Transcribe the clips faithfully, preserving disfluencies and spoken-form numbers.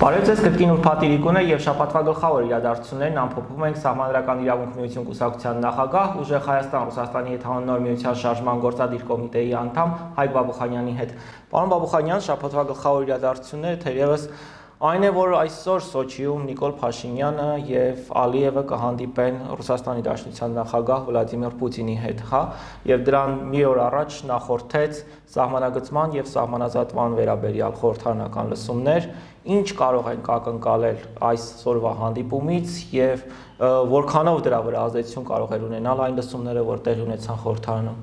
Բարև ձեզ, կրկին Ուրբաթ Իրիկուն է եւ շաբաթվա գլխավոր իրադարձություններն ամփոփում ենք Սահմանադրական իրավունք միություն կուսակցության նախագահ Ուժեղ Հայաստան Ռուսաստանի հետ հանուն միության շարժման գործադիր կոմիտեի անդամ Հայկ Բաբուխանյանի հետ։ Պարոն Բաբուխանյան, շաբաթվա գլխավոր իրադարձությունները թերևս այն է, որ այսօր Սոչիում Նիկոլ Փաշինյանը եւ Ալիևը կհանդիպեն Ռուսաստանի Դաշնության նախագահ Վլադիմիր Պուտինի հետ, հա, եւ դրան մի օր առաջ նախորդեց սահմանագծման եւ սահմանազատման վերաբերյալ խորհրդարանական լսումներ։ Ինչ կարող ենք ակնկալել այսօրվա հանդիպումից եւ որքանով դրա վրա ազդեցություն կարող է ունենալ այն լսումները, որ տեղի ունեցան խորհրդարանում։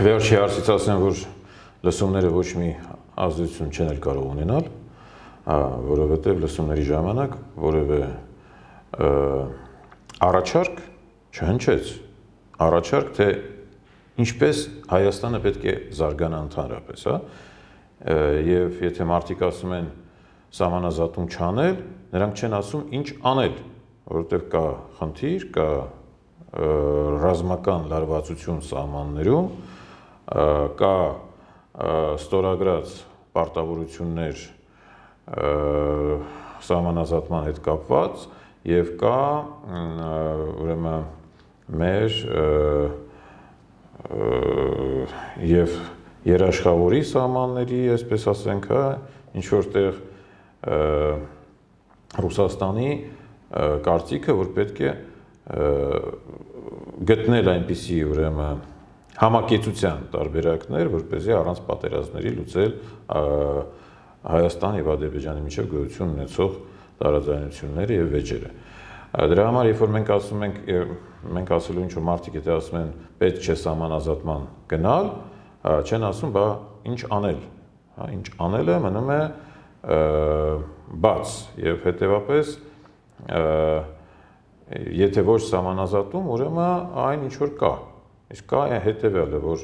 Վերջի հարցից ասեմ, որ լսումները ոչ մի ազդեցություն չեն կարող ունենալ, որովհետեւ լսումների ժամանակ որևէ առաջարկ չհնչեց, առաջարկ թե ինչպես Հայաստանը պետք է զարգանա ընդհանրապես, հա։ Եվ եթե մարդիկ ասում են սահմանազատում չանել, նրանք չեն ասում ինչ անել, որովհետև կա խնդիր, կա ռազմական լարվածություն սահմաններում, կա ստորագրած պարտավորություններ սահմանազատման հետ կապված եւ կա ուրեմն մեր եւ երաշխավորի սահմանների, այսպես ասենք, ինչ որտեղ Ռուսաստանի կարծիքը, որ պետք է գտնել այնպիսի ուրեմն համակեցության տարբերակներ, որպեսզի առանց պատերազմների լուծել Հայաստան եւ Ադրբեջանի միջև գոյություն ունեցող տարաձայնությունները եւ վեճերը։ Դրա համար, երբ որ մենք ասում ենք, մենք ասելու ինչ որ մարդիկ եթե ասում են պետք չէ սահմանազատման գնալ, չեն ասում, բա ինչ անել, ինչ անելը մնում է բաց եւ հետեւապես եթե ոչ սահմանազատում, ուրեմն այն ինչ որ կա, իսկ կա հետեւյալը, որ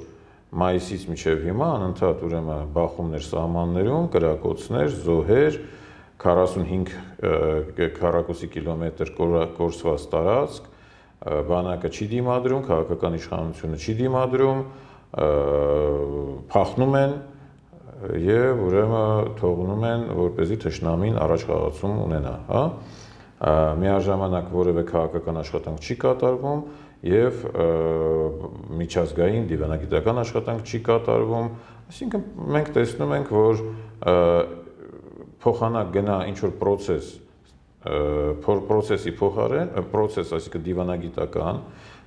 մայիսից մինչև հիմա անընդհատ ուրեմն բախումներ սահմաններում, կրակոցներ, զոհեր, քառասունհինգ քառակուսի կիլոմետր կորսված տարածք, բանակը չի դիմադրում, քաղաքական իշխանությունը չի դիմադրում, փախնում են եւ ուրեմն թողնում են, որպեսզի թշնամին առաջ խաղացում ունենա, հա։ Միաժամանակ որևէ քաղաքական աշխատանք չի կատարվում եւ միջազգային դիվանագիտական աշխատանք չի կատարվում, այսինքն մենք տեսնում ենք, որ փոխանակ գնա ինչ որ process, process-ի փոխարեն, process, այսինքն դիվանագիտական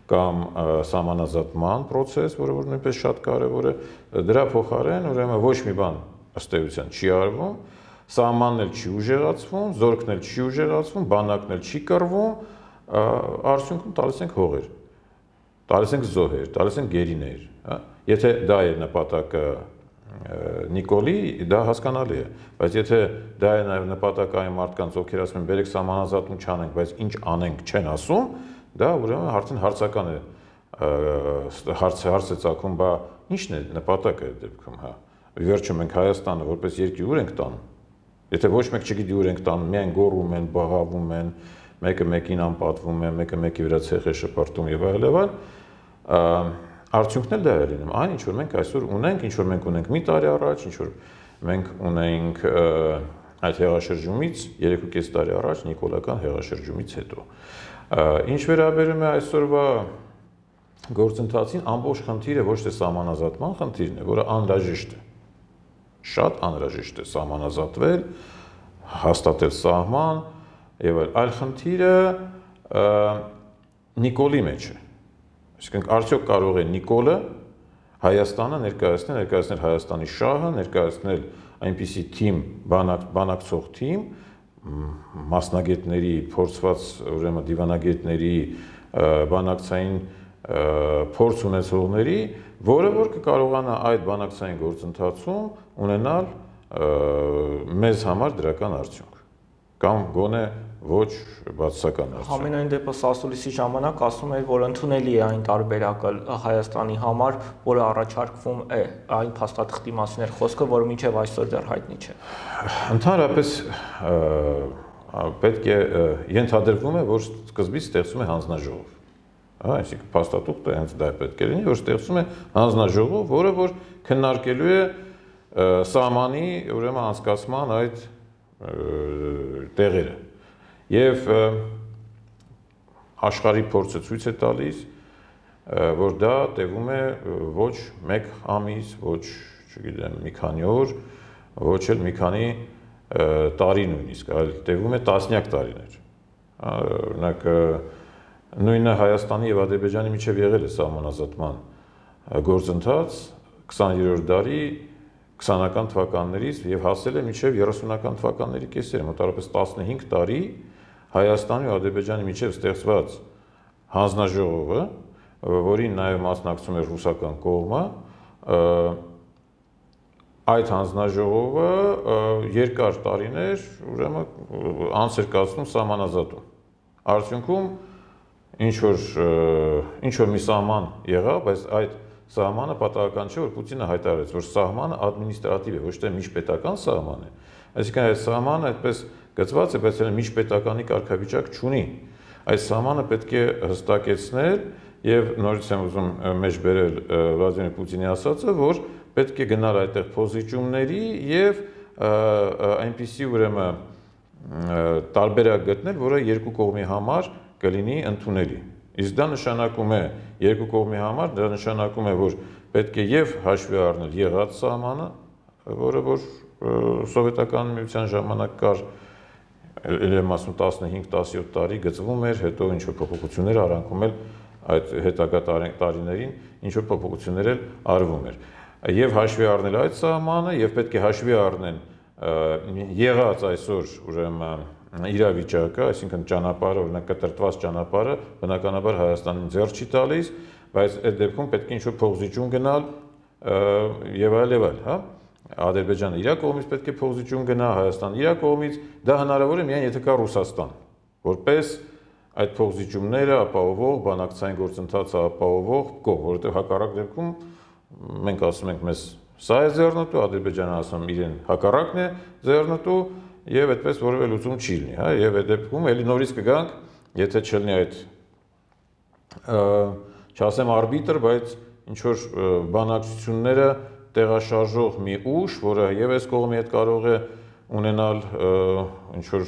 կամ սահմանազատման process, որը որ նույնպես շատ կարևոր է, դրա փոխարեն ուրեմն ոչ մի բան ըստ էության չի արվում, սահմանն էլ չի ուժեղացվում, զորքն էլ չի ուժեղացվում, բանակն էլ չի կռվում, արդյունքում տալիս ենք հողեր, տալիս ենք զոհեր, տալիս ենք գերիներ, հա։ Եթե դա է նպատակը Նիկոլի, դա հասկանալի է, բայց եթե դա է նաև նպատակը այն մարդկանց, ովքեր ասում են բերեք սահմանազատում չանենք, բայց ինչ անենք չեն ասում, դա ուրեմն արդեն հարցական է, հարց հարց է ծագում, բա ի՞նչն է նպատակը այդ դեպքում, հա։ Վերջում մենք Հայաստանը որպես երկիր ուր ենք տանում։ Եթե ոչ մեկ չգիտի ուր ենք տանում, միայն գոռում են, բղավում են, մեկը մեկին անպատվում է, մեկը մեկի վրա ցեխ է շպրտում եւ այլ եւ այլ, արդյունքն էլ դա է լինում, այն ինչ որ մենք այսօր ունենք, ինչ որ մենք ունենք մի տարի առաջ, ինչ որ մենք ունենք այդ հեղաշրջումից երեք ու կես տարի առաջ նիկոլական հեղաշրջումից հետո։ Ինչ վերաբերում է այսօրվա գործընթացին, ամբողջ խնդիրը ոչ թե սահմանազատման խնդիրն է, որը անհրաժեշտ է, շատ անհրաժեշտ է սահմանազատվել, հաստատել սահման եւ այլ խնդիրը Նիկոլի մեջ է։ Այսինքն արդյոք կարող է Նիկոլը Հայաստանը ներկայացնել, ներկայացնել Հայաստանի շահը, ներկայացնել այնպիսի թիմ, բանակ, բանակցող թիմ, մասնագետների, փորձված ուրեմն դիվանագետների, բանակցային փորձ ունեցողների, որը որ կկարողանա այդ բանակցային գործընթացում ունենալ մեզ համար դրական արդյունք կամ գոնե ոչ բացասական արդյունք։ Համենայն դեպս ասուլիսի ժամանակ ասում էր, որ ընդունելի է այն տարբերակը Հայաստանի համար, որը առաջարկվում է, այն փաստաթղթի մասին էր խոսքը, որը մինչև այսօր դեռ հայտնի չէ։ Ընդհանրապես պետք է ենթադրվում է, որ սկզբից ստեղծում է հանձնաժողով։ Հա, այսինքն փաստաթուղթը հենց դա պետք է լինի, որ ստեղծում է հանձնաժողով, որը որ քննարկելու է սահմանի ուրեմն անցկացման այդ տեղերը։ Եվ աշխարհի փորձը ցույց է տալիս, որ դա տևում է ոչ մեկ ամիս, ոչ, չգիտեմ, մի քանի օր, ոչ էլ մի քանի տարի նույնիսկ, այլ տևում է տասնյակ տարիներ։ Օրինակ նույնը Հայաստանի եւ Ադրբեջանի միջև եղել է սահմանազատման գործընթաց քսաներորդ դարի քսանական թվականներից եւ հասել է մինչեւ երեսունական թվականների կեսերը, մոտավորապես տասնհինգ տարի Հայաստանի ու Ադրբեջանի միջև ստեղծված հանձնաժողովը, որին նաեւ մասնակցում էր ռուսական կողմը, այդ հանձնաժողովը երկար տարիներ ուրեմն անց էր կացնում սահմանազատում։ Արդյունքում ինչ որ ինչ որ մի սահման եղավ, բայց այդ սահմանը պատահական չէ, որ Պուտինը հայտարարեց, որ սահմանը ադմինիստրատիվ է, ոչ թե միջպետական սահման է։ Այսինքն այդ սահմանը այդպես գծված է, բայց այն միջպետականի կարգավիճակ չունի։ Այս սահմանը պետք է հստակեցնել եւ նորից եմ ուզում մեջ բերել Վլադիմիր Պուտինի ասածը, որ պետք է գնալ այդտեղ փոզիչումների եւ այնպիսի ուրեմն տարբերակ գտնել, որը երկու կողմի համար կլինի ընդունելի։ Իսկ դա նշանակում է երկու կողմի համար, դա նշանակում է, որ պետք է եւ հաշվի առնել եղած սահմանը, որը որ սովետական միության ժամանակ կար, ելեմ ասում տասնհինգ տասնյոթ տարի գծվում էր, հետո ինչ որ փոփոխություններ արանքում էլ այդ հետագա տարիներին ինչ որ փոփոխություններ էլ արվում էր։ Եվ հաշվի առնել այդ սահմանը եւ պետք է հաշվի առնեն եղած այսօր ուրեմն իրավիճակը, այսինքն ճանապարհը, օրինակ կտրտված ճանապարհը բնականաբար Հայաստանին ձեռ չի տալիս, բայց այդ դեպքում պետք է ինչ որ փոխզիջում գնալ եւ այլ եւ այլ, հա։ Ադրբեջանը իր կողմից պետք է փոխզիջում գնա, Հայաստանը իր կողմից, դա հնարավոր է միայն եթե կա Ռուսաստան, որպես այդ փոխզիջումները ապահովող, բանակցային գործընթացը ապահովող կողմ, որովհետեւ հակառակ դեպքում մենք ասում ենք մեզ սա է ձեռնտու, Ադրբեջանը ասում իրեն հակառակն է ձեռնտու եւ այդպես որևէ լուծում չի լինի, հա, եւ այդ դեպքում էլի նորից կգանք, եթե չլինի այդ չասեմ արբիտր, բայց ինչ որ բանակցությունները տեղաշարժող մի ուժ, որը եւ այս կողմի հետ կարող է ունենալ ինչ որ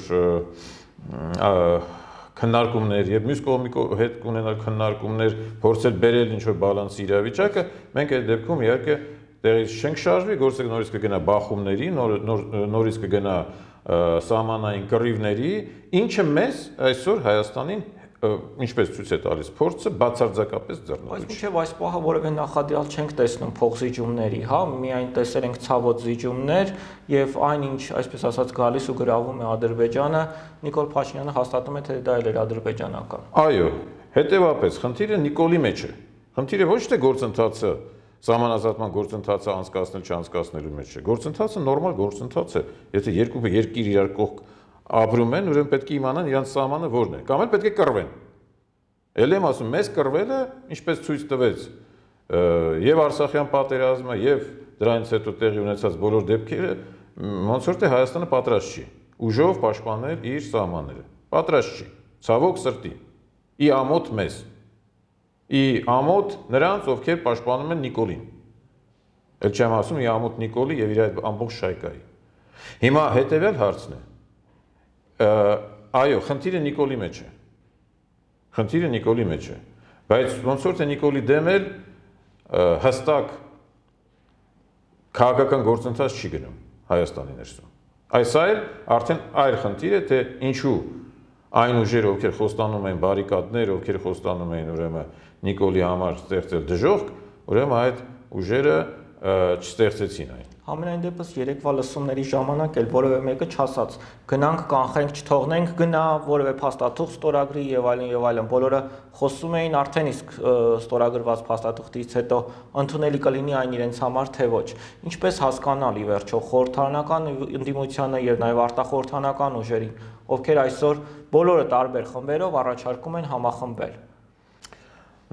քննարկումներ եւ մյուս կողմի հետ ունենալ քննարկումներ, փորձել բերել ինչ որ բալանսի իրավիճակը, մենք այդ դեպքում իհարկե տեղից չենք շարժվի, գործը նորից կգնա բախումների, նորից կգնա սահմանային կռիվների, ինչը մեզ այսօր Հայաստանին ինչպես ցույց է տալիս փորձը բացարձակապես ձեռնտու։ Բայց մինչև այս պահը որևէ նախադրյալ չենք տեսնում փոխզիջումների, հա, միայն տեսել ենք ցավոտ զիջումներ եւ այնինչ, այսպես ասած, գալիս ու գրավում է Ադրբեջանը, Նիկոլ Փաշինյանը հաստատում է, թե դա էլ էր ադրբեջանական։ Այո, հետեւապես խնդիրը Նիկոլի մեջ է։ Խնդիրը ոչ թե գործընթացը Սահմանազատման գործընթացը անցկացնել չանցկացնելու մեջ է։ Գործընթացը նորմալ գործընթաց է։ Եթե երկու երկիր իրար կողք ապրում են, ուրեմն պետք է իմանան իրանց սահմանը որն է։ Կամ էլ պետք է կռվեն։ Էլ եմ ասում, մեզ կռվելը, ինչպես ցույց տվեց եւ Արցախյան պատերազմը, եւ դրանից հետո տեղի ունեցած բոլոր դեպքերը, ոնց որ թե Հայաստանը պատրաստ չի ուժով պաշտպանել իր սահմանները։ Պատրաստ չի։ Ցավոք սրտի։ Ի ամոթ մեզ։ Ի ամոթ նրանց, ովքեր պաշտպանում են Նիկոլին։ Էլ չեմ ասում ի ամոթ Նիկոլի եւ իր այդ ամբողջ շայկայի։ Հիմա հետեւյալ հարցն է։ Այո, խնդիրը Նիկոլի մեջ է։ Խնդիրը Նիկոլի մեջ է։ Բայց ոնց որ թե Նիկոլի դեմ էլ հստակ քաղաքական գործընթաց չի գնում Հայաստանի ներսում։ Այս այլ արդեն այլ խնդիր է, թե ինչու այն ուժերը, ովքեր խոստանում են բարիկադներ, ովքեր խոստանում են ուրեմն Նիկոլի համար ստեղծել դժոխք, ուրեմն այդ ուժերը չստեղծեցին այն։ Համենայն դեպս երեկվա լսումների ժամանակ էլ որևէ մեկը չասաց գնանք կանխենք, չթողնենք գնա, որևէ փաստաթուղթ ստորագրի եւ այլն եւ այլն։ Բոլորը խոսում էին արդեն իսկ ստորագրված փաստաթուղթից հետո ընդունելի կլինի այն իրենց համար թե ոչ։ Ինչպես հասկանալ ի վերջո խորհրդարանական ընդդիմությանը եւ նաեւ արտախորհրդանական ուժերին, ովքեր այսօր բոլորը տարբեր խմբերով առաջարկում են համախմբել։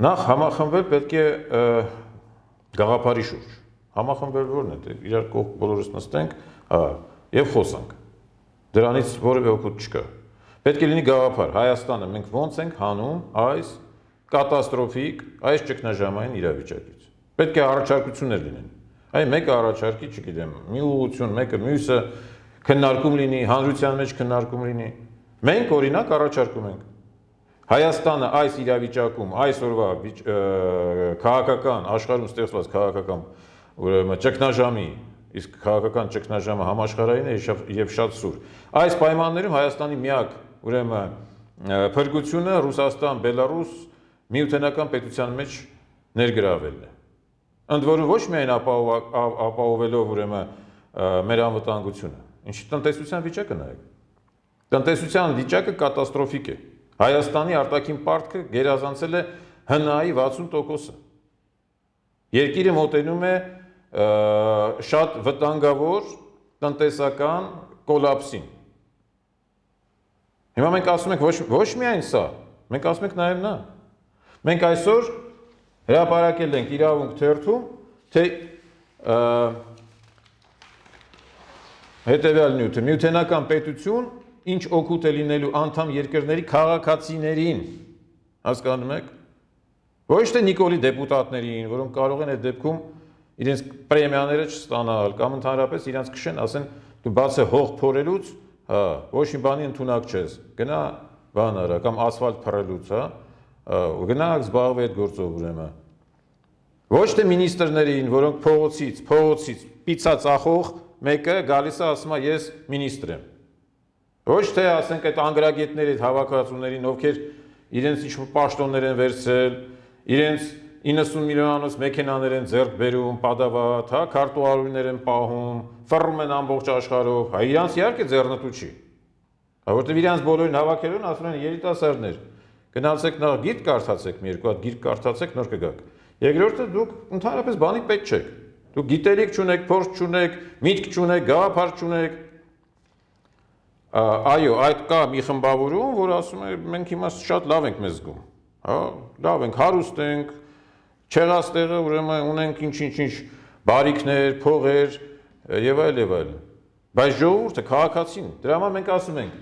Նախ համախմբել պետք է գաղափարի շուրջ։ Համախմբել որն է, իրար կողք բոլորս նստենք, հա, եւ խոսանք։ Դրանից որևէ օգուտ չկա։ Պետք է լինի գաղափար։ Հայաստանը մենք ոնց ենք հանում այս կատաստրոֆիկ, այս ճգնաժամային իրավիճակից։ Պետք է առաջարկություններ լինեն։ Այ մեկը առաջարկի, չգիտեմ, մի ուղղություն, մեկը մյուսը, քննարկում լինի, հանրության մեջ քննարկում լինի։ Մենք օրինակ առաջարկում ենք Հայաստանը այս իրավիճակում, այսօրվա քաղաքական աշխարհում ստեղծված քաղաքական ուրեմն ճգնաժամի, իսկ քաղաքական ճգնաժամը համաշխարհային է եւ շատ սուր։ Այս պայմաններում Հայաստանի միակ ուրեմն փրկությունը Ռուսաստան, Բելարուս միութենական պետության մեջ ներգրավելն է։ Ընդ որում ոչ միայն ապահովելով ուրեմն մեր անվտանգությունը, ինչի տնտեսության վիճակը նայեք։ Տնտեսության վիճակը կատաստրոֆիկ է։ Հայաստանի արտաքին պարտքը գերազանցել է ՀՆԱ-ի վաթսուն տոկոսը։ Երկիրը մոտենում է շատ վտանգավոր տնտեսական կոլապսին։ Հիմա մենք ասում ենք ոչ, ոչ միայն սա, մենք ասում ենք նաև նա։ Մենք այսօր հրապարակել ենք իրավունք թերթում, թե հետևյալ նյութը, միութենական պետություն ինչ օգուտ է լինելու անդամ երկրների քաղաքացիներին, հասկանում եք, ոչ թե Նիկոլի դեպուտատներին, որոնք կարող են այդ դեպքում իրենց պրեմիաները չստանալ, կամ ընդհանրապես իրենց քշեն, ասեն, դու բաց է հող փորելուց, հա, ոչ մի բանի ընդունակ չես, գնա բան արա, կամ ասֆալտ փռելուց, հա, գնա զբաղվի այդ գործով ուրեմն։ Ոչ թե մինիստրներին, որոնք փողոցից, փողոցից պիցա ծախող մեկը գալիս է ասում է ես մինիստր եմ։ Ոչ թե ասենք այդ անգրագետների, այդ հավաքածուներին, ովքեր իրենց ինչ-որ պաշտոններ են վերցրել, իրենց իննսուն միլիոնանոց մեքենաներ են ձեռք բերում, պատավատ, հա, քարտուղարուհիներ են պահում, ֆռում են ամբողջ աշխարհով, հա, իրանց իհարկե ձեռնտու չի։ Հա, որտեղ իրանց բոլորին հավաքելուն ասում են երիտասարդներ, գնացեք նախ գիրք կարդացեք, մի երկու հատ գիրք կարդացեք, նոր կգաք։ Երկրորդը դուք ընդհանրապես բանի պետք չեք։ Դուք գիտելիք չունեք, փորձ չունեք, միտք չունեք, գաղափար չունեք։ Այո, այդ կա մի խմբավորում, որ ասում է մենք հիմա շատ լավ ենք մեզ զգում, հա, լավ ենք, հարուստ ենք, չեղած տեղը ուրեմն ունենք ինչ-ինչ-ինչ բարիքներ, փողեր եւ այլ եւ այլ։ Բայց ժողովուրդը, քաղաքացին, դրա համար մենք ասում ենք,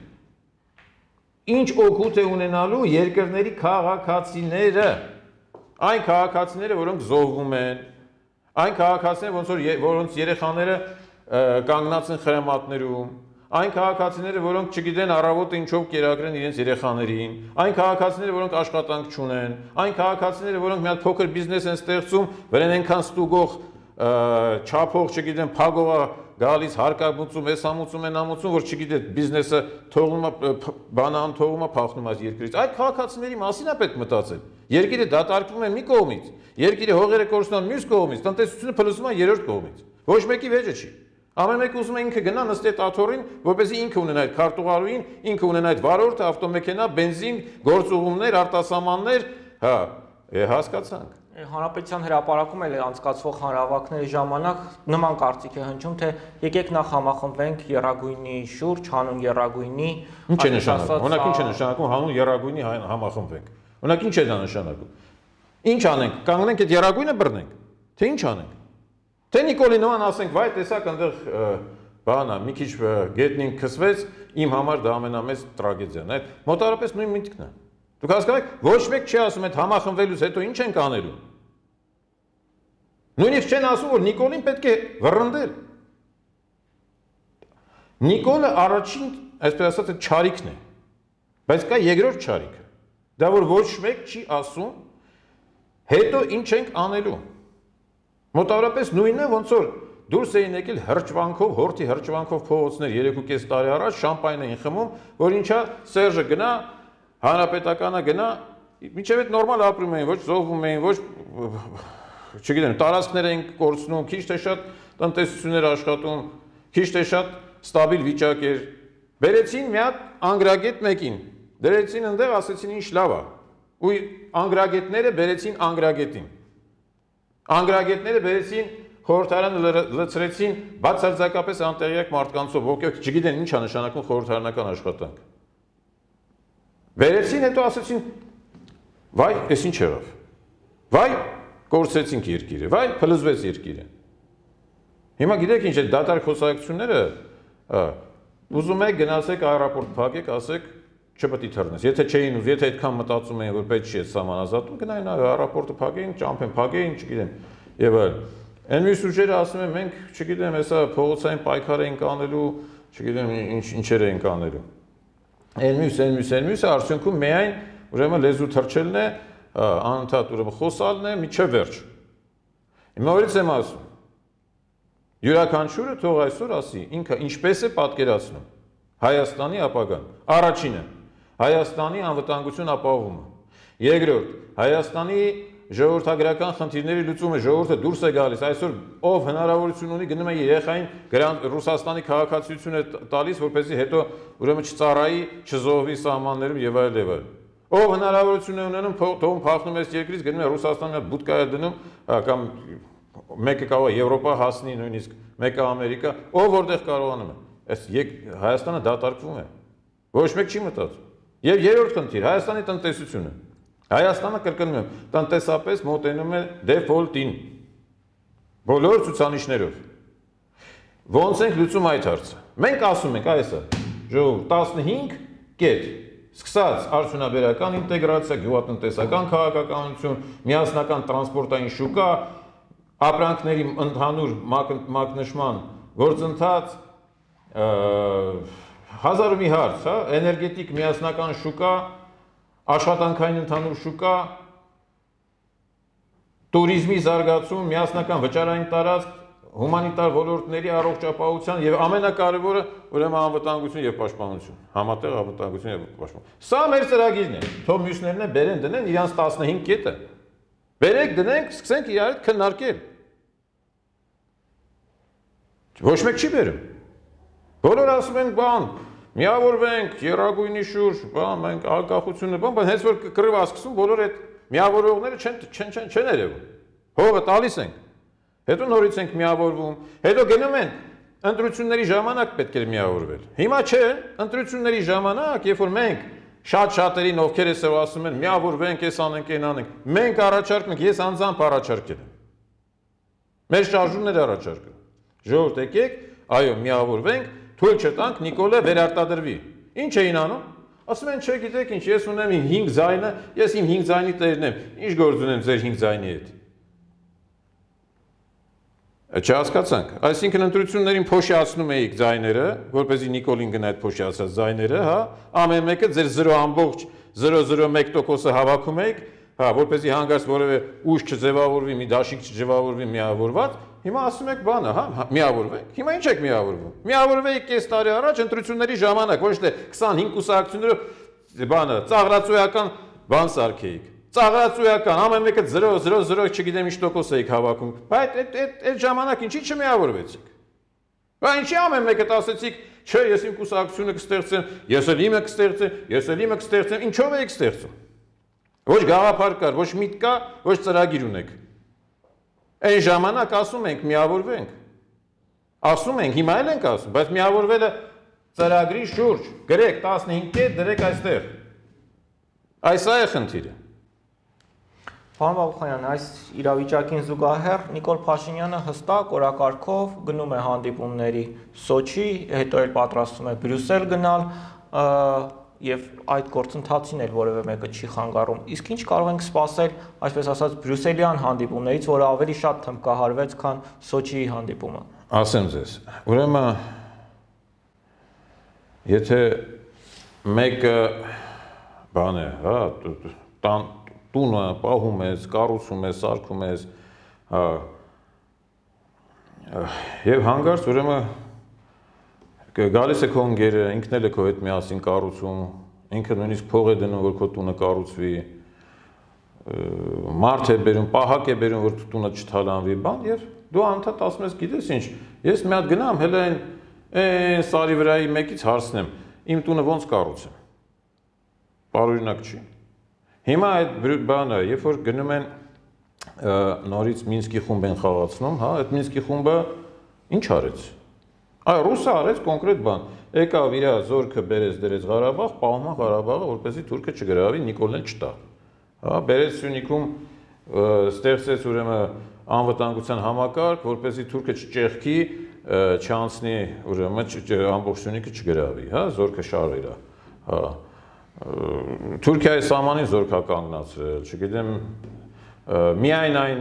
ինչ օգուտ է ունենալու երկրների քաղաքացիները, այն քաղաքացիները, որոնք զոհվում են, այն քաղաքացիները, ոնց որ որոնց երեխաները կանգնած են խրամատներում, այն քաղաքացիները, որոնք չգիտեն առավոտը ինչով կերակրեն իրենց երեխաներին, այն քաղաքացիները, որոնք աշխատանք չունեն, այն քաղաքացիները, որոնք մի հատ փոքր բիզնես են ստեղծում, վրան այնքան ստուգող, չափող, չգիտեն, փագողա գալիս հարկամուծում, էսամուծում են ամուծում, որ չգիտեք բիզնեսը թողնում է, բանը անթողում է, փախնում է երկրից։ Այդ քաղաքացիների մասին է պետք մտածել։ Երկիրը դատարկվում է մի կողմից, երկիրը հողերը կորցնում մյուս կողմից, տնտեսությունը փլուզում է երրորդ կողմից։ Ոչ մեկի վեճը չի։ Ամեն մեկը ուզում է ինքը գնա նստի այդ աթոռին, որպեսզի ինքը ունենա այդ քարտուղարուին, ինքը ունենա այդ վարորդը, ավտոմեքենա, բենզին, գործուղումներ, արտասահմաններ, հա, հասկացանք։ Հանրապետության հրապարակում էլ անցկացվող հանրահավաքների ժամանակ նման կարծիք է հնչում, թե եկեք նախ համախմբվենք եռագույնի շուրջ, հանուն եռագույնի։ Ինչ է նշանակում։ Օրինակ ինչ է նշանակում հանուն եռագույնի համախմբվենք։ Օրինակ ինչ է դա նշանակում։ Ինչ անենք, կանգնենք այդ եռագույնը բռնենք, թե ինչ անենք։ Թե Նիկոլինոան ասենք, վայ, տեսակ այնտեղ բանա, մի քիչ գետնին քսվեց, իմ համար դա ամենամեծ տրագեդիան է։ Այդ մոտավորապես նույն միտքն է։ Դուք հասկանում եք, ոչ մեկ չի ասում այդ համախմբվելուց հետո ինչ ենք անելու։ Նույնիսկ չեն ասում, որ Նիկոլին պետք է վռնդել։ Նիկոլը առաջին, այսպես ասած, չարիքն է։ Բայց կա երկրորդ չարիքը։ Դա որ ոչ մեկ չի ասում, հետո ինչ ենք անելու։ Մոտավորապես նույնն է, ոնց որ դուրս էին եկել հրճվանքով, հորթի հրճվանքով փողոցներ երեք ու կես տարի առաջ շամպայն էին խմում, որ ինչա Սերժը գնա, հանրապետականը գնա, մինչև այդ նորմալ ապրում էին, ոչ զոհվում էին, ոչ չգիտեմ, տարածքներ էին կորցնում, քիչ թե շատ տնտեսություններ աշխատում, քիչ թե շատ ստաբիլ վիճակ էր։ Բերեցին մի հատ անգրագետ մեկին, դրեցին այնտեղ, ասեցին ինչ լավ է։ Ու անգրագետները բերեցին անգրագետին։ Անգրագետները բերեցին խորհրդարանը լցրեցին բացարձակապես անտեղյակ մարդկանցով, ովքեր չգիտեն ինչ է նշանակում խորհրդարանական աշխատանք։ Բերեցին, հետո ասեցին, վայ, էս ինչ եղավ։ Վայ, կորցրեցինք երկիրը, վայ, փլուզվեց երկիրը։ Հիմա գիտեք ինչ է դատարկ խոսակցությունները, ուզում եք գնացեք аэроպորտ փակեք, ասեք չպետք է թռնես։ Եթե չէին ուզ, եթե այդքան մտածում էին, որ պետք չի այդ սահմանազատում, գնային аэроպորտը փակեին, ճամփեն փակեին, չգիտեմ, եւ այլ։ Այն մյուս ուժերը ասում են մենք, չգիտեմ, հեսա փողոցային պայքար ենք անելու, չգիտեմ ինչ ինչեր են կանելու։ Այն մյուս, այն մյուս, այն մյուսը արդյունքում միայն ուրեմն լեզու թրջելն է, անընդհատ ուրեմն խոսալն է միջև վերջ։ Հիմա որից եմ ասում։ Յուրաքանչյուրը թող այսօր ասի, ինքը ինչպես է պատկերացնում Հայաստանի ապագան։ Առաջինը Հայաստանի անվտանգություն ապահովումը։ Երկրորդ Հայաստանի ժողովրդագրական խնդիրների լուծումը, ժողովուրդը դուրս է գալիս, այսօր ով հնարավորություն ունի գնում է երեխային Ռուսաստանի քաղաքացիություն է տալիս, որպեսզի հետո ուրեմն չծառայի, չզոհվի սահմաններում եւ այլ եւ այլ։ Ով հնարավորություն է ունենում, թողում փախնում է երկրից, գնում է Ռուսաստանի հետ բուտկա է դնում, կամ մեկը կարող է Եվրոպա հասնի նույնիսկ, մեկը Ամերիկա, ով որտեղ կարողանում է։ Այս Հայաստանը դատարկվում է։ Ոչ մեկ չի մտածում։ Եվ երրորդ խնդիր, Հայաստանի տնտեսությունը։ Հայաստանը կրկնում եմ, տնտեսապես մոտենում է դեֆոլտին։ Բոլոր ցուցանիշներով։ Ոնց ենք լուծում այդ հարցը։ Մենք ասում ենք, այսա, ժողովուրդ տասնհինգ կետ, սկսած արդյունաբերական ինտեգրացիա, գյուղատնտեսական քաղաքականություն, միասնական տրանսպորտային շուկա, ապրանքների ընդհանուր մակնշման գործընթաց, հազար ու մի հարց, հա, էներգետիկ միասնական շուկա, աշխատանքային ընդհանուր շուկա, տուրիզմի զարգացում, միասնական վճարային տարածք, հումանիտար ոլորտների առողջապահության եւ ամենակարևորը ուրեմն անվտանգություն եւ պաշտպանություն, համատեղ անվտանգություն եւ պաշտպանություն։ Սա մեր ծրագիրն է։ Թող մյուսներն են բերեն դնեն իրանց տասնհինգ կետը։ Բերեք դնենք, սկսենք իրար հետ քննարկել։ Ոչ մեկ չի բերում։ Բոլորը ասում են բան, միավորվենք, երագույնի շուրջ, բան, մենք անկախությունը, բան, բայց հենց որ կռիվը սկսում, բոլորը այդ միավորողները չեն չեն չեն չեն երևում։ Հողը տալիս ենք։ Հետո նորից ենք միավորվում, հետո գնում են ընտրությունների ժամանակ պետք է միավորվել։ Հիմա չէ, ընտրությունների ժամանակ, երբ որ մենք շատ-շատերին ովքեր էսով ասում են միավորվենք, էս անենք, այն անենք, մենք առաջարկում ենք, ես անձամբ առաջարկել եմ։ Մեր շարժումները առաջարկում։ Ժողովուրդ եկեք, այո, միավորվենք, թույլ չտանք Նիկոլը վերարտադրվի։ Ինչ էին անում։ Ասում են, չէ, գիտեք ինչ, ես ունեմ իմ հինգ ձայնը, ես իմ հինգ ձայնի տերն եմ, ինչ գործ ունեմ ձեր հինգ ձայնի հետ։ Չհասկացանք, այսինքն ընտրություններին փոշիացնում էիք ձայները, որպեսզի Նիկոլին գնա այդ փոշիացած ձայները, հա, ամեն մեկը ձեր զրո ամբողջ զրո զրո մեկ տոկոսը հավաքում էիք, հա, որպեսզի հանգարց որևէ ուժ չձևավորվի, մի դաշինք չձևավորվի միավորված, հիմա ասում եք բանը, հա, միավորվենք, հիմա ինչ եք միավորվում։ Միավորվեիք կես տարի առաջ ընտրությունների ժամանակ, ոչ թե քսանհինգ կուսակցություններով բանը, ծաղրացույական բան սարքեիք։ Ծաղրացույական, ամեն մեկը զրո զրո զրո չգիտեմ ինչ տոկոս էիք հավաքում, բայց այդ այդ այդ ժամանակ ինչի չմիավորվեցիք։ Բա ինչի ամեն մեկը ասեցիք, չէ, ես իմ կուսակցությունը կստեղծեմ, ես էլ իմը կստեղծեմ, ես էլ իմը կստեղծեմ, ինչով եք ստեղծում։ Ոչ գաղափար կար, ոչ միտք կա, ոչ ծրագիր ունեք։ Այն ժամանակ ասում ենք միավորվենք։ Ասում ենք, հիմա էլ ենք ասում, բայց միավորվելը ծրագրի շուրջ, գրեք տասնհինգ կետ, դրեք այստեղ։ Այս է խնդիրը։ Պարոն Բաբուխանյան, այս իրավիճակին զուգահեռ Նիկոլ Փաշինյանը հստակ օրակարգով գնում է հանդիպումների Սոչի, հետո էլ պատրաստվում է Բրյուսել գնալ, եւ այդ գործընթացին էլ որևէ մեկը չի խանգարում։ Իսկ ինչ կարող ենք սպասել, այսպես ասած, բրյուսելյան հանդիպումներից, որը ավելի շատ թմբկահարվեց, քան Սոչիի հանդիպումը։ Ասեմ ձեզ, ուրեմն եթե մեկը բան է, հա, տան տունը պահում ես, կառուցում ես, սարքում ես, հա, եւ հանգարց ուրեմն գալիս է քո ընկերը, ինքն էլ է քո հետ միասին կառուցում, ինքը նույնիսկ փող է դնում, որ քո տունը կառուցվի, մարդ է բերում, պահակ է բերում, որ տունը չթալանվի, բան, եւ դու անդադ ասում ես, գիտես ինչ, ես մի հատ գնամ, հələ այն այն սարի վրայի մեկից հարցնեմ, իմ տունը ոնց կառուցեմ։ Բարօրինակ չի։ Հիմա այդ բանը, երբ որ գնում են նորից Մինսկի խումբ են խաղացնում, հա, այդ Մինսկի խումբը ինչ արեց։ Այ ռուսը արեց կոնկրետ բան։ Եկավ իր զորքը բերեց դրեց Ղարաբաղ, պահում է Ղարաբաղը, որպեսզի թուրքը չգրավի, Նիկոլն չտա։ Հա, բերեց Սյունիքում ստեղծեց ուրեմն անվտանգության համակարգ, որպեսզի թուրքը չճեղքի, չանցնի, ուրեմն ամբողջ Սյունիքը չգրավի, հա, զորքը շարեր է։ Հա Թուրքիայի սահմանին զորք է կանգնացրել, չգիտեմ, միայն այն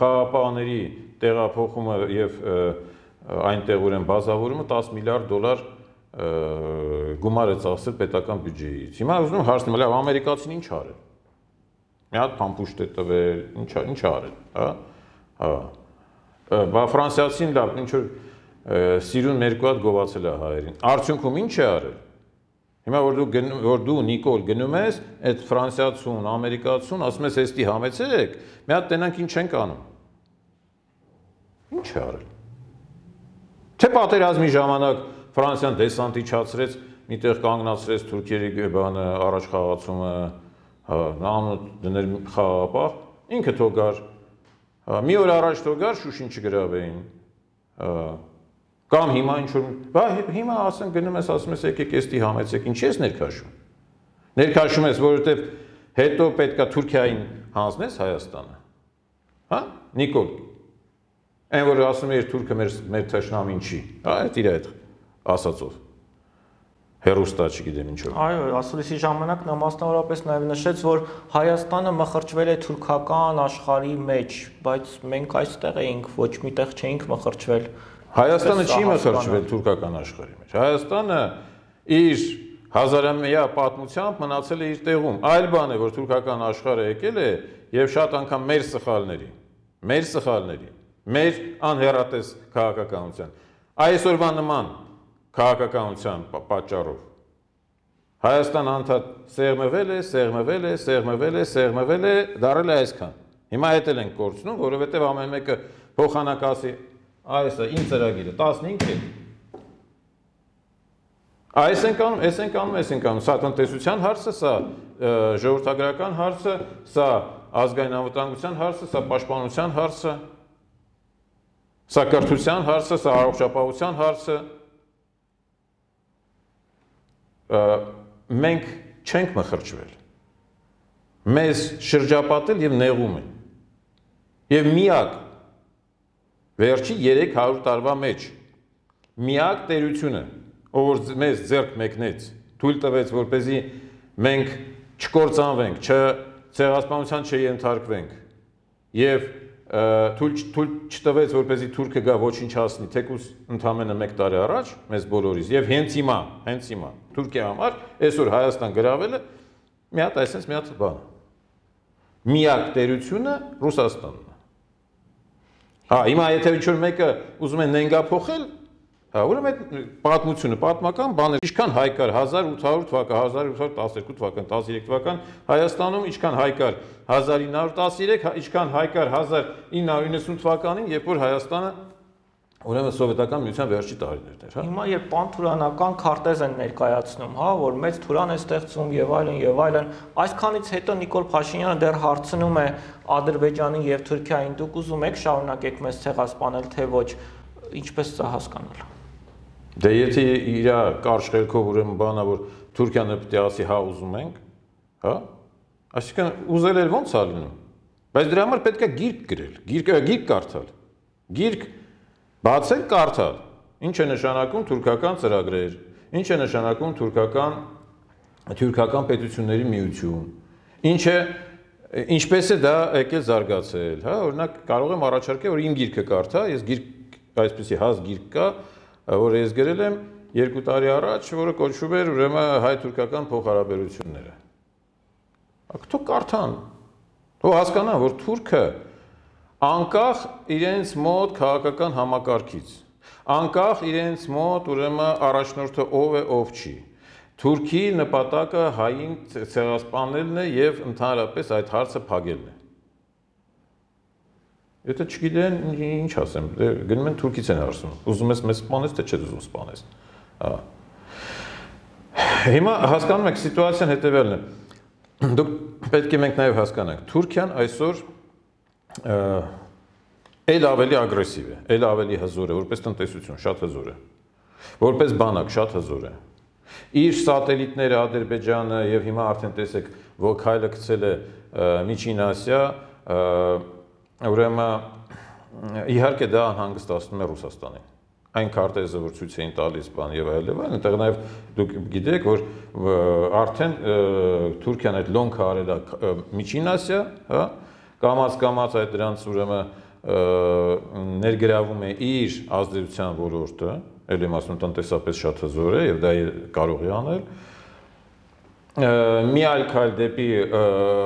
խաղապահների տեղափոխումը եւ այնտեղ ուրեմն բազավորումը տասը միլիարդ դոլար գումար է ծախսել պետական բյուջեից։ Հիմա ուզում եմ հարցնեմ, լավ, ամերիկացին ինչ արել։ Մի հատ փամփուշտ է տվել, ինչ ինչ արել, հա։ Հա։ Բա ֆրանսիացին լավ, ինչ որ սիրուն երկու հատ գովացել է հայերին։ Արդյունքում ինչ է արել։ Հիմա որ դու որ դու Նիկոլ գնում ես, այդ ֆրանսիացուն, ամերիկացուն, ասում ես էստի համեցեք, մի հատ տենանք ինչ ենք անում։ Ինչ է արել։ Թե պատերազմի ժամանակ Ֆրանսիան դեսանտ իջացրեց, միտեղ կանգնացրեց թուրքերի բանը առաջ խաղացումը, նամը դներ խաղապահ, ինքը թող գար։ Մի օր առաջ թող գար Շուշին չգրավեին։ Կամ հիմա ինչ որ, բա հիմա ասեն գնում ես, ասում ես եկեք էստի համեցեք, ինչ ես ներքաշում։ Ներքաշում ես, որովհետև հետո պետքա Թուրքիային հանձնես Հայաստանը։ Հա, Նիկոլ։ Այն որ ասում էր թուրքը մեր մեր թշնամին չի, հա, այդ իր այդ ասածով։ Հերոստա չգիտեմ ինչով։ Այո, ասուլիսի ժամանակ նա մասնավորապես նաև նշեց, որ Հայաստանը մխրճվել է թուրքական աշխարհի մեջ, բայց մենք այստեղ էինք, ոչ միտեղ չէինք մխրճվել։ Հայաստանը չի մխրճվել թուրքական աշխարհի մեջ։ Հայաստանը իր հազարամյա պատմությամբ մնացել է իր տեղում։ Այլ բան է, որ թուրքական աշխարհը եկել է եւ շատ անգամ մեր սխալների, մեր սխալների, մեր անհեռատես քաղաքականության։ Այսօրվա նման քաղաքականության պատճառով Հայաստան անդադ սեղմվել է, սեղմվել է, սեղմվել է, սեղմվել է, դարել է այսքան։ Հիմա հետ էլ ենք կորցնում, որովհետև ամեն մեկը փոխանակասի այս է իմ ծրագիրը տասնհինգ է։ Այս ենք անում, այս ենք անում, այս ենք անում, սա տնտեսության հարցը, սա ժողովրդագրական հարցը, սա ազգային անվտանգության հարցը, սա պաշտպանության հարցը, սա կրթության հարցը, սա առողջապահության հարցը։ Մենք չենք մխրճվել, մեզ շրջապատել և նեղում են, և միակ վերջի երեք հարյուր տարվա մեջ, միակ տերությունը, ով որ մեզ ձեռք մեկնեց, թույլ տվեց, որպեսզի մենք չկործանվենք, ցեղասպանության չենթարկվենք և թույլ չտվեց, որպեսզի թուրքը գա ոչնչացնի, թեկուզ ընդամենը մեկ տարի առաջ, մեզ բոլորիս, և հենց հիմա, հենց հիմա, Թուրքիա համար, այսօր Հայաստան գրավելը, մի հատ այսենց մի հատ բան։ Միակ տերությունը Ռուսաստանն է։ Հա, հիմա եթե ինչ-որ մեկը ուզում է նենգափոխել, ուրեմն այդ պատմությունը, պատմական բան է, ինչքան հայ կար հազար ութ հարյուր թվական, հազար ութ հարյուր տասներկու թվական, տասներեք թվական Հայաստանում, ինչքան հայ կար հազար ինը հարյուր տասներեք, ինչքան հայ կար հազար ինը հարյուր իննսուն թվականին, երբ որ Հայաստանը ուրեմն սովետական միության վերջի տարիներն էր, հա։ Հիմա երբ պանթուրանական քարտեզ են ներկայացնում, հա, որ մեծ թուրան է ստեղծում եւ այլն եւ այլն, այսքանից հետո Նիկոլ Փաշինյանը դեռ հարցնում է Ադրբեջանին եւ Թուրքիային, դուք ուզում եք շարունակեք մեզ ցեղասպանել, թե ոչ, ինչպես սա հասկանալ։ Դե եթե իր կարճ խելքով ուրեմն բանա, որ Թուրքիանը պետք է ասի հա ուզում ենք, հա, այսինքն ուզել էր ո՞նց է լինում, բայց դրա համար պետք է գիրք գրել, գիրք գիրք կարդալ, գիրք բացել կարդալ, ինչ է նշանակում թուրքական ծրագրեր, ինչ է նշանակում թուրքական թուրքական պետությունների միություն, ինչ է ինչպես է դա եկել զարգացել, հա, օրինակ կարող եմ առաջարկել, որ իմ գիրքը կարդա, ես գիրք այսպեսի հաս գիրք կա, որ ես գրել եմ երկու տարի առաջ, որը կոչվում էր ուրեմն հայ-թուրքական փոխհարաբերությունները։ Ակտո կարդան, թող հասկանան, որ թուրքը անկախ իրենց մոտ քաղաքական համակարգից, անկախ իրենց մոտ ուրեմն առաջնորդը ով է, ով չի, Թուրքի նպատակը հային ցեղասպանելն է եւ ընդհանրապես այդ հարցը փակելն է։ Եթե չգիտեն, ինչ ասեմ, գնում են Թուրքից են հարցնում, ուզում ես մեզ սպանես, թե չէ ուզում սպանես։ Հիմա հասկանում եք, սիտուացիան հետևյալն է։ Դուք պետք է մենք նաև հասկանանք, Թուրքիան այսօր էլ ավելի ագրեսիվ է, էլ ավելի հզոր է, որպես տնտեսություն, շատ հզոր է, որպես բանակ, շատ հզոր է։ Իր սատելիտները Ադրբեջանը եւ հիմա արդեն տեսեք, որ քայլը գցել է Միջին Ասիա, ուրեմն իհարկե դա անհանգստացնում է Ռուսաստանին։ Այն քարտեզը, որ ցույց էին տալիս բան եւ այլն, այնտեղ նաեւ դուք գիտեք, որ արդեն Թուրքիան այդ լոնքը արել է Միջին Ասիա, հա, կամած կամած այդ դրանց ուրեմն ներգրավում է իր ազդեցության ոլորտը, ել եմ ասում տնտեսապես շատ հզոր է եւ դա կարող է անել։ Մի այլ քայլ դեպի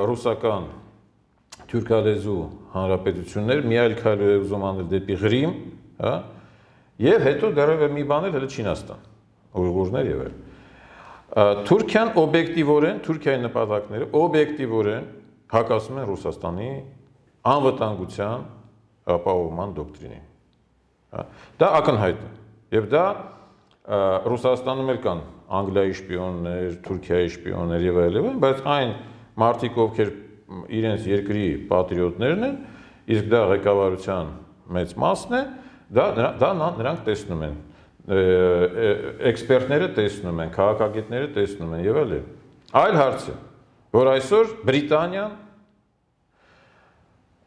ռուսական թուրքալեզու հանրապետություններ, մի այլ քայլ է ուզում անել դեպի Ղրիմ, հա, եւ հետո դեռևս մի բան էլ հենց Չինաստան, Ուйղուրներ եւ այլ։ Թուրքիան օբյեկտիվորեն, Թուրքիայի նպատակները օբյեկտիվորեն հակասում են Ռուսաստանի անվտանգության ապահովման դոկտրինին։ Դա ակնհայտ է։ Եվ դա Ռուսաստանում էլ կան Անգլիայի շպիոններ, Թուրքիայի շպիոններ եւ այլն, բայց այն մարդիկ, ովքեր իրենց երկրի պատրիոտներն են, իսկ դա ղեկավարության մեծ մասն է, դա դա նրանք տեսնում են, էքսպերտները տեսնում են, քաղաքագետները տեսնում են եւ այլն։ Այլ հարց է, որ այսօր Բրիտանիան,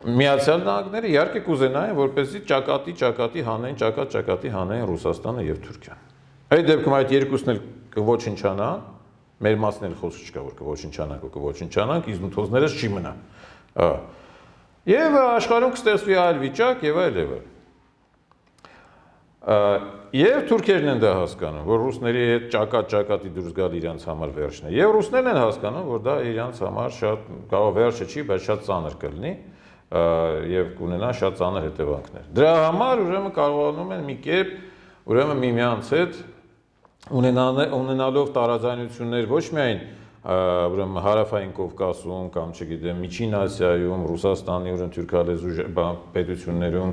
Միացյալ Նահանգները իհարկե կուզենային, որպեսզի ճակատի ճակատի հանեն, ճակատ-ճակատի հանեն Ռուսաստանը եւ Թուրքիան։ Այդ դեպքում այդ երկուսն էլ կոչնչանան, մեր մասն էլ խոսք չկա, որ կոչնչանանք ու կոչնչանանք, իզնութոզներս չի մնա։ Եվ աշխարհում կստեղծվի այլ վիճակ եւ այլ եւ այլ։ Եվ թուրքերն են դա հասկանում, որ ռուսների հետ ճակատ-ճակատի դուրս գալ իրանց համար վերջն է։ Եվ ռուսներն են հասկանում, որ դա իրանց համար շատ կարող վերջը չի, բայց շատ ծանր կլինի եւ կունենա շատ ծանր հետևանքներ։ Դրա համար ուրեմն կարողանում են մի կերպ ուրեմն միմյանց հետ ունենալով տարաձայնություններ ոչ միայն ուրեմն հարավային Կովկասում կամ չգիտեմ Միջին Ասիայում, Ռուսաստանի ուրեմն թուրքալեզու պետություններում,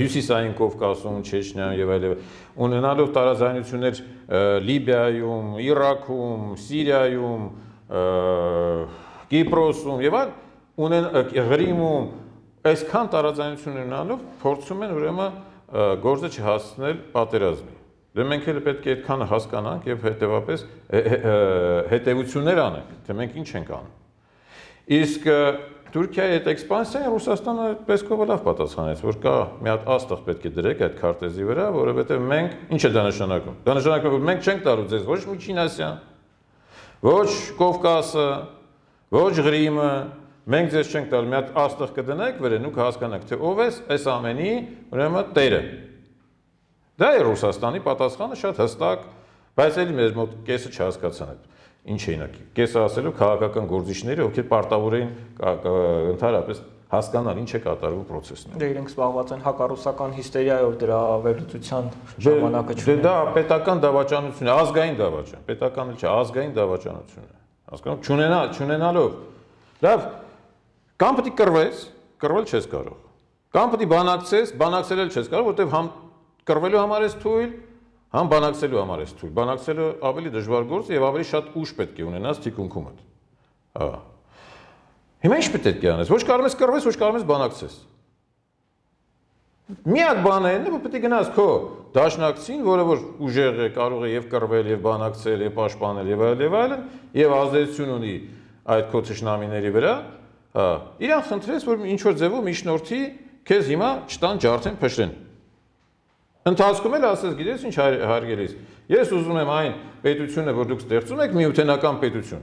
հյուսիսային Կովկասում, Չեչնիայում եւ այլն, ունենալով տարաձայնություններ Լիբիայում, Իրաքում, Սիրիայում, Կիպրոսում եւ այլն, ունեն Ղրիմում, այսքան տարաձայնություններ ունենալով փորձում են ուրեմն գործը չհասցնել պատերազմի։ Դե մենք էլ պետք է այդքան հասկանանք եւ հետեւապես հետեւություններ անենք, թե մենք ինչ ենք անում։ Իսկ Թուրքիայի այդ էքսպանսիան Ռուսաստանը պես-կով լավ պատասխանեց, որ կա մի հատ աստղ պետք է դրեք այդ քարտեզի վրա, որովհետեւ մենք ինչ է դա նշանակում։ Դա նշանակում է, որ մենք չենք տալու ձեզ ոչ Միջին Ասիան, ոչ Կովկասը, ոչ Ղրիմը, մենք ձեզ չենք տալու, մի հատ աստղ կդնեք վրան ու կհասկանաք, թե ով է այս ամենի ուրեմն տերը։ Դա է Ռուսաստանի պատասխանը շատ հստակ, բայց էլի մեր մոտ կեսը չհասկացան այդ ինչ էին ակի։ Կեսը ասելով քաղաքական գործիչները, ովքեր պարտավոր էին ընդհանրապես հասկանալ ինչ է կատարվում process-ում։ Դե իրենք զբաղված են հակառուսական հիստերիայով դրա վերլուծության ժամանակը չունեն։ Դե դա պետական դավաճանություն է, ազգային դավաճան, պետական էլ չէ, ազգային դավաճանություն է։ Հասկանում, չունենա, չունենալով։ Լավ, կամ պետք է կռվես, կռվել չես կարող։ Կամ պետք է բանակցես, բանակցել էլ չես կարող, որովհետև համ կռվելու համար ես թույլ, համ բանակցելու համար ես թույլ։ Բանակցելը ավելի դժվար գործ է եւ ավելի շատ ուժ պետք է ունենաս թիկունքումդ։ Հա։ Հիմա ինչ պետք է անես։ Ոչ կարող ես կռվես, ոչ կարող ես բանակցես։ Միակ բանը է, որ պետք է գնաս քո դաշնակցին, որը որ ուժեղ է, կարող է եւ կռվել, եւ բանակցել, եւ պաշտպանել եւ այլ եւ այլն, եւ ազդեցություն ունի այդ քո թշնամիների վրա, հա։ Իրան խնդրես, որ ինչ որ ձևով միջնորդի քեզ հիմա չտան ջարդեն փշրեն։ Ընթացքում էլ ասես, գիտես ինչ հարգելիս, ես ուզում եմ այն պետությունը, որ դուք ստեղծում եք, միութենական պետություն։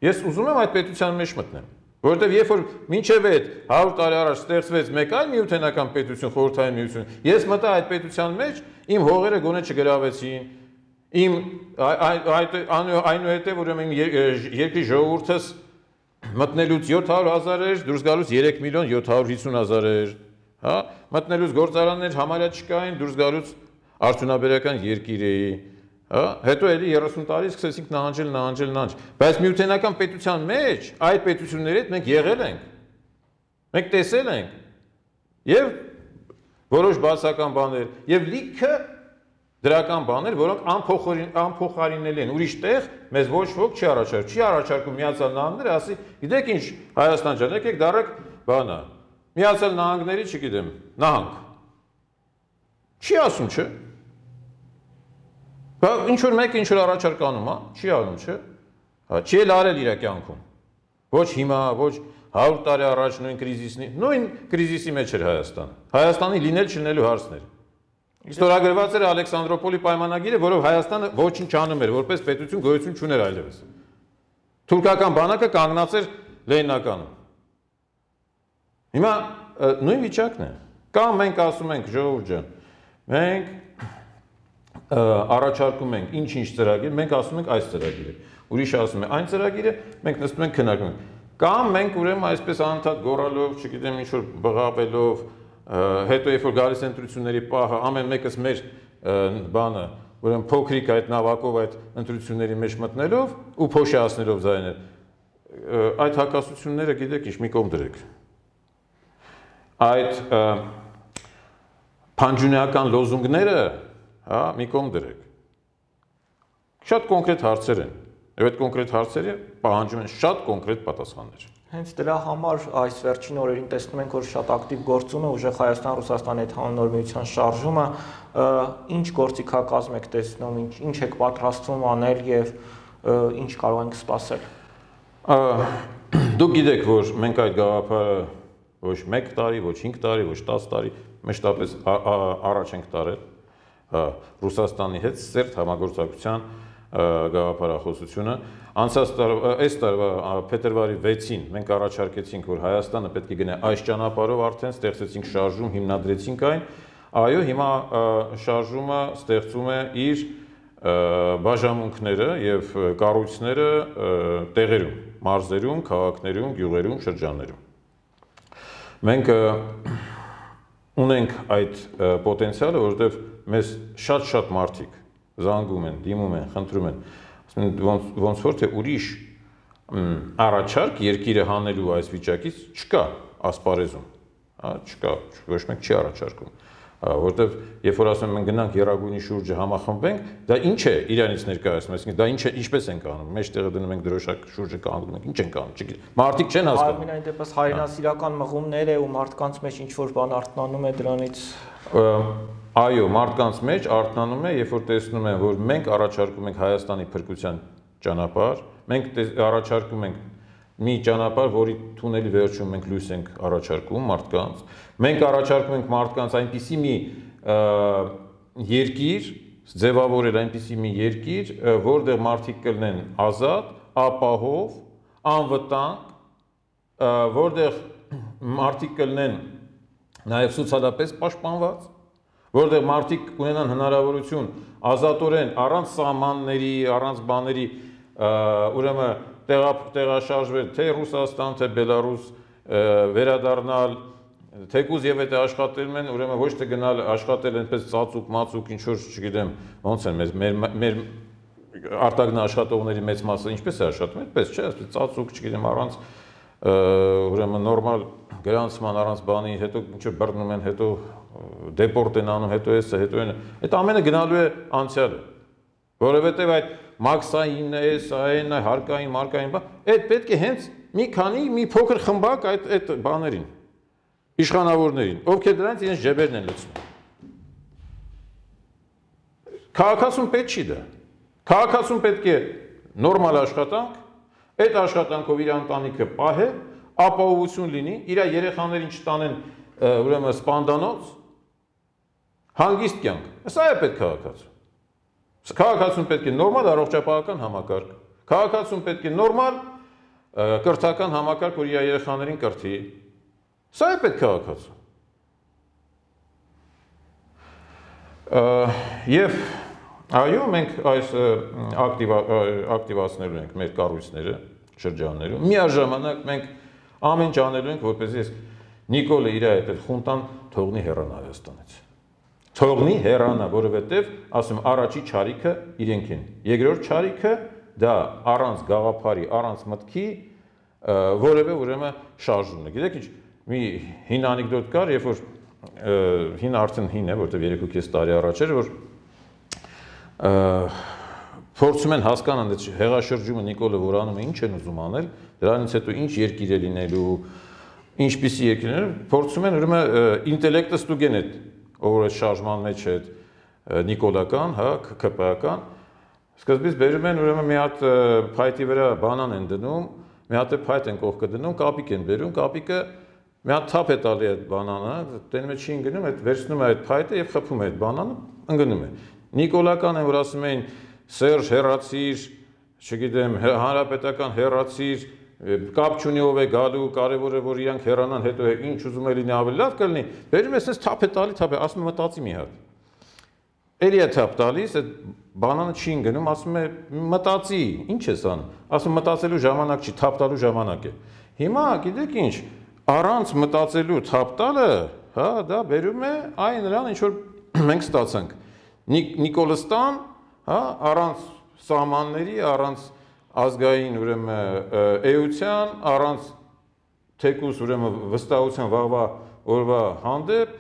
Ես ուզում եմ այդ պետության մեջ մտնեմ, որովհետև երբ որ մինչև այդ հարյուր տարի առաջ ստեղծվեց մեկ այլ միութենական պետություն, խորհրդային միություն, ես մտա այդ պետության մեջ, իմ հողերը գոնե չգրավեցին, իմ այնուհետև ուրեմն երկրի ժողովուրդս մտնելուց յոթ հարյուր հազար էր, դուրս գալուց երեք միլիոն յոթ հարյուր հիսուն հազար էր։ Հա, մտնելուց գործարաններ համարյա չկային, դուրս գալուց արդյունաբերական երկիր էի, հա, հետո էլի երեսուն տարի սկսեցինք նահանջել, նահանջել, նահանջ, բայց միութենական պետության մեջ այդ պետությունների հետ մենք եղել ենք, մենք տեսել ենք, եւ որոշ բացական բաներ, եւ լիքը դրական բաներ, որոնք անփոխարինելի են, ուրիշ տեղ մեզ ոչ ոք չի առաջարկում, չի առաջարկում Միացյալ Նահանգները, ասի, գիտեք ինչ, Հայաստան ջան, եկեք դարեք բանա Միացյալ Նահանգների, չգիտեմ, նահանգ։ Չի ասում, չէ։ Բա ինչ որ մեկը ինչ որ առաջարկ անում, հա, չի անում, չէ։ Հա, չի էլ արել իր կյանքում։ Ոչ հիմա, ոչ հարյուր տարի առաջ նույն կրիզիսի, նույն կրիզիսի մեջ էր Հայաստանը։ Հայաստանի լինել չլինելու հարցն էր։ Ստորագրված էր Ալեքսանդրոպոլի պայմանագիրը, որով Հայաստանը ոչինչ անում էր, որպես պետություն գոյություն չուներ այլևս։ Թուրքական բանակը կանգնած էր Լենինականում։ Հիմա նույն վիճակն է։ Կամ մենք ասում ենք ժողովուրդ ջան, մենք առաջարկում ենք ինչ-ինչ ծրագիր, մենք ասում ենք այս ծրագիրը, ուրիշը ասում է այն ծրագիրը, մենք նստում ենք քննարկում ենք։ Կամ մենք ուրեմն այսպես անընդհատ գոռալով, չգիտեմ ինչ որ բղավելով, հետո երբ որ գալիս են ընտրությունների պահը, ամեն մեկս մեր բանը, ուրեմն փոքրիկ այդ նավակով այդ ընտրությունների մեջ մտնելով ու փոշիացնելով ձայներ, այդ հակասությունները գիտեք ինչ մի կողմ դրեք։ Այդ փանջունեական լոզունգները, հա, մի կողմ դրեք։ Շատ կոնկրետ հարցեր են, եւ այդ կոնկրետ հարցերը պահանջում են շատ կոնկրետ պատասխաններ։ Հենց դրա համար այս վերջին օրերին տեսնում ենք, որ շատ ակտիվ գործում է ուժեղ Հայաստան-Ռուսաստանի հետ նոր միության շարժումը, ինչ գործիքակազմ եք տեսնում, ինչ ինչ եք պատրաստվում անել եւ ինչ կարող ենք սպասել։ Դուք գիտեք, որ մենք այդ գաղափարը ոչ մեկ տարի, ոչ հինգ տարի, ոչ տասը տարի, մեջտապես առաջ ենք տարել Ռուսաստանի հետ սերտ համագործակցության գաղափարախոսությունը։ Անցած տարվա, այս տարվա փետրվարի վեցին մենք առաջարկեցինք, որ Հայաստանը պետք է գնա այս ճանապարհով, արդեն ստեղծեցինք շարժում, հիմնադրեցինք այն։ Այո, հիմա շարժումը ստեղծում է իր բաժանմունքները եւ կառույցները տեղերում, մարզերում, քաղաքներում, գյուղերում, շրջաններում։ Մենք ունենք այդ պոտենցիալը, որովհետեւ մեզ շատ-շատ մարդիկ զանգում են, դիմում են, խնդրում են, ասում են ոնց որ թե ուրիշ առաջարկ երկիրը հանելու այս վիճակից չկա ասպարեզում, հա, չկա, ոչ մեկ չի առաջարկում, որովհետև երբ որ ասում ենք գնանք Եռագույնի շուրջը համախմբենք, դա ինչ է իրանից ներկայացնում, այսինքն դա ինչ է, ինչպես ենք անում, մեջտեղը դնում ենք դրոշակ շուրջը կանգնում ենք, ինչ ենք անում, չգիտեմ, մարդիկ չեն հասկանում։ Այնուամենայնիվ դեպս հայրենասիրական մղումներ է ու մարդկանց մեջ ինչ որ բան արթնանում է դրանից։ Այո, մարդկանց մեջ արթնանում է, երբ որ տեսնում են, որ մենք առաջարկում ենք Հայաստանի փրկության ճանապարհ, մենք առաջարկում ենք մի ճանապարհ, որի թունելի վերջում մենք լույս ենք առաջարկում մարդկանց, մենք առաջարկում ենք մարդկանց այնպիսի մի երկիր, ձևավորել այնպիսի մի երկիր, որտեղ մարդիկ կլինեն ազատ, ապահով, անվտանգ, որտեղ մարդիկ կլինեն նաև սոցիալապես պաշտպանված, որտեղ մարդիկ ունենան հնարավորություն ազատորեն, առանց սահմանների, առանց բաների, ուրեմն տեղաշարժվել թե Ռուսաստան, թե Բելարուս, վերադառնալ, թեկուզ եւ եթե աշխատում են, ուրեմն ոչ թե գնալ աշխատել այնպես ծածուկ, մածուկ, ինչ որ, չգիտեմ, ոնց են մեր մեր արտագն աշխատողների մեծ մասը ինչպես է աշխատում, այդպես չէ, այսպես ծածուկ, չգիտեմ, առանց ուրեմն նորմալ գրանցման, առանց բանի, հետո ինչ որ բռնում են, հետո դեպորտ են անում, հետո էսը, հետո այն, այդ ամենը գնալու է անցյալը, որովհետև այդ մաքսային է, սային է, հարկային, մարկային բան, այդ պետք է հենց մի քանի, մի փոքր խմբակ այդ այդ բաներին, իշխանավորներին, ովքեր դրանից իրենց ջեբերն են լցնում։ Քաղաքացուն պետք չի դա։ Քաղաքացուն պետք է նորմալ աշխատանք, այդ աշխատանքով իր ընտանիքը պահե, ապահովություն լինի, իր երեխաներին չտանեն ուրեմն սպանդանոց, հանգիստ կյանք։ Սա է պետք քաղաքացու։ Քաղաքացուն պետք է նորմալ առողջապահական համակարգ։ Քաղաքացուն պետք է նորմալ կրթական համակարգ, որ իր երեխաներին կրթի։ Սա է պետք քաղաքացու։ Եվ այո, մենք այս ակտիվացնելու ենք մեր կառույցները, շրջաններում։ Միաժամանակ մենք ամեն ինչ անելու ենք, որպեսզի Նիկոլը իր այդ խունտան թողնի հեռանա Հայաստանից։ Թողնի հեռանա, որովհետև, ասում, առաջի չարիքը իրենք են։ Երկրորդ չարիքը դա առանց գաղափարի, առանց մտքի որևէ ուրեմն շարժումն է։ Գիտեք ինչ, մի հին անեկդոտ կար, երբ որ հին արդեն հին է, որտեղ երեք ու կես տարի առաջ էր, որ փորձում են հասկանալ այդ հեղաշրջումը Նիկոլը որ անում է, ինչ են ուզում անել, դրանից հետո ինչ երկիր է լինելու, ինչպիսի երկիր է, փորձում են ուրեմն ինտելեկտը ստուգեն այդ ով որ շարժման մեջ է նիկոլական, հա, ԿՊ-ական, սկզբից բերում են ուրեմն մի հատ փայտի վրա բանան են դնում, մի հատ փայտ են կողքը դնում, կապիկ են բերում, կապիկը մի հատ թափ է տալի այդ բանանը, տենում է չի ընկնում, այդ վերցնում է այդ փայտը եւ խփում է այդ բանանը, ընկնում է։ Նիկոլական են որ ասում էին Սերժ հեռացիր, չգիտեմ, հանրապետական հեռացիր, կապ չունի ով է գալու, կարևոր է որ իրանք հեռանան, հետո ինչ ուզում է լինի ավելի լավ կլինի, բերում ես այս թափ է տալի, թափ է, ասում է մտածի մի հատ։ Էլի է թափ տալիս, այդ բանանը չի գնում, ասում է մտածի, ինչ ես անում, ասում մտածելու ժամանակ չի, թափ տալու ժամանակ է։ Հիմա գիտեք ինչ, առանց մտածելու թափ տալը, հա, դա բերում է այն նրան, ինչ որ մենք ստացանք։ Նիկոլստան, հա, առանց սահմանների, առանց ազգային ուրեմն էության, առանց թեկուզ ուրեմն վստահության վաղվա օրվա հանդեպ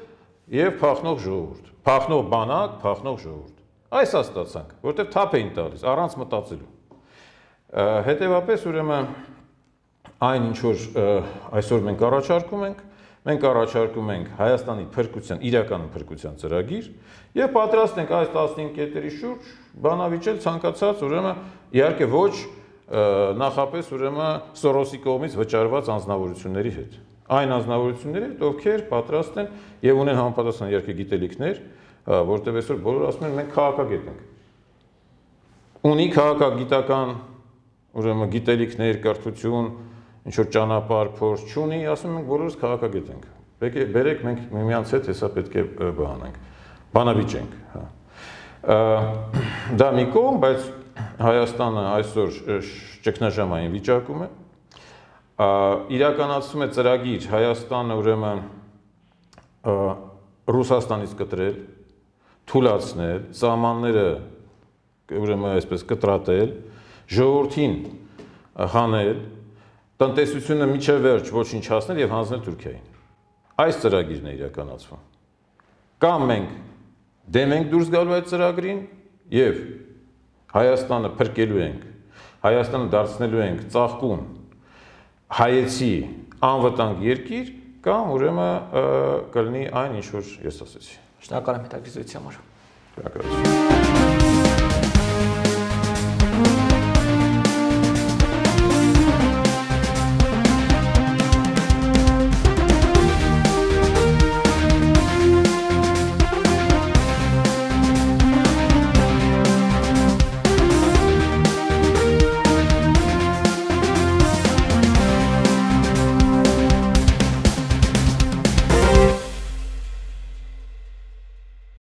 եւ փախնող ժողովուրդ, փախնող բանակ, փախնող ժողովուրդ։ Այս է ստացանք, որտեղ թափ էին տալիս առանց մտածելու։ Հետևաբար ուրեմն այն ինչ որ այսօր մենք առաջարկում ենք, մենք առաջարկում ենք Հայաստանի փրկության, իրական փրկության ծրագիր եւ պատրաստ ենք այս տասնհինգ կետերի շուրջ բանավիճել ցանկացած ուրեմն իհարկե ոչ նախապես ուրեմն Սորոսի կողմից վճարված անձնավորությունների հետ։ Այն անձնավորությունների հետ, ովքեր պատրաստ են եւ ունեն համապատասխան իհարկե գիտելիքներ, որտեղ այսօր բոլորը ասում են մենք քաղաքագետ ենք։ Ունի քաղաքագիտական ուրեմն գիտելիքներ, կրթություն, ինչ որ ճանապարհ, փորձ չունի, ասում ենք բոլորս քաղաքագետ ենք։ Պետք է բերեք մենք միմյանց հետ հեսա պետք է բանանենք, բանավիճենք, հա։ Դա մի կողմ, բայց Հայաստանը այսօր ճգնաժամային վիճակում է, իրականացում է ծրագիր Հայաստանը ուրեմն Ռուսաստանից կտրել, թուլացնել, սահմանները ուրեմն այսպես կտրատել, ժողովրդին հանել, տնտեսությունը միջև վերջ ոչնչացնել եւ հանձնել Թուրքիային։ Այս ծրագիրն է իրականացվում։ Կամ մենք դեմ ենք դուրս գալու այդ ծրագրին եւ Հայաստանը փրկելու ենք, Հայաստանը դարձնելու ենք ծաղկուն հայեցի անվտանգ երկիր, կամ ուրեմն կլինի այն ինչ որ ես ասեցի։ Շնորհակալ եմ հետաքրքրության համար։ Շնորհակալություն։